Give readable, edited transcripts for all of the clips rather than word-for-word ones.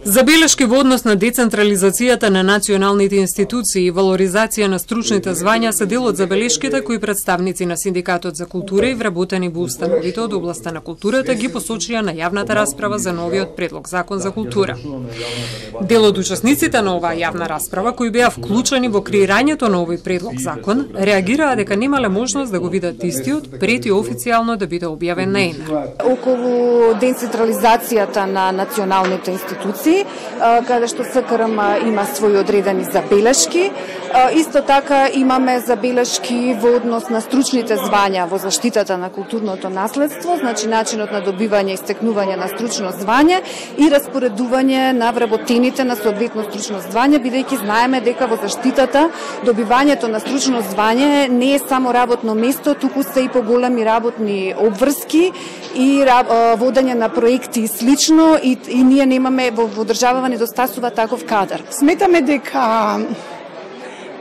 Забелешки во однос на децентрализацијата на националните институции и валоризација на стручните звања се дел од забелешките кои представници на Синдикатот за култура и вработени во установите од областа на културата ги посочија на јавната расправа за новиот предлог закон за култура. Дел од учесниците на оваа јавна расправа, кои беа вклучени во креирањето на овој предлог закон, реагираа дека немале можност да го видат истиот пред и официјално да биде објавен на ЕНА. Околу децентрализацијата на националните институции, каде што СКРМ има своји одредени забелешки. Исто така имаме забелешки во однос на стручните звања во заштитата на културното наследство, значи начинот на добивање и стекнување на стручно звање и распоредување на вработените на соодветно стручно звање, бидејќи знаеме дека во заштитата добивањето на стручно звање не е само работно место, туку се и поголеми работни обврски и водење на проекти и слично, и ние немаме во државава недостасува таков кадар. Сметаме дека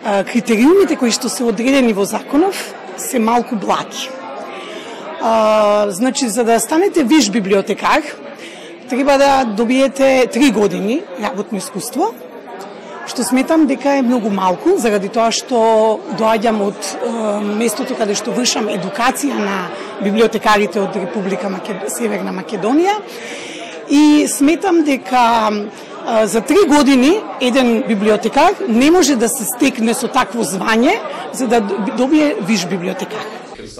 критериумите кои што се одредени во законов се малку благи. Значи, за да станете виш библиотекар, треба да добиете 3 години работно искуство, што сметам дека е многу малку, заради тоа што доаѓам од местото каде што вршам едукација на библиотекарите од Република Северна Македонија, и сметам дека за 3 години еден библиотекар не може да се стекне со такво звање за да добие виш библиотекар.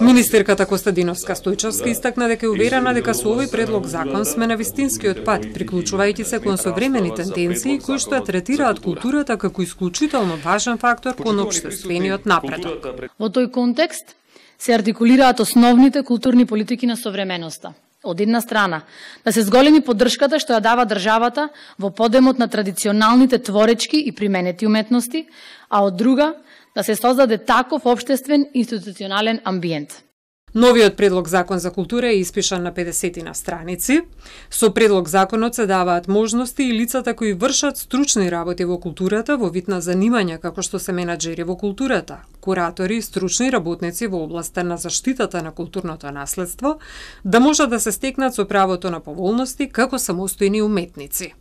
Министерката Костадиновска Стојчевска истакна дека е уверена дека со овој предлог закон сме на вистинскиот пат, приклучувајќи се кон современи тенденции кои што ја третираат културата како исклучително важен фактор кон општествениот напредок. Во тој контекст се артикулираат основните културни политики на современоста. Од една страна, да се зголеми поддршката што ја дава државата во подемот на традиционалните творечки и применети уметности, а од друга, да се создаде таков општествен институционален амбиент. Новиот предлог закон за култура е испишан на 50 на страници. Со предлог законот се даваат можности и лицата кои вршат стручни работи во културата во вид на занимања како што се менаџери во културата, куратори и стручни работници во областа на заштитата на културното наследство, да можат да се стекнат со правото на поволности како самостојни уметници.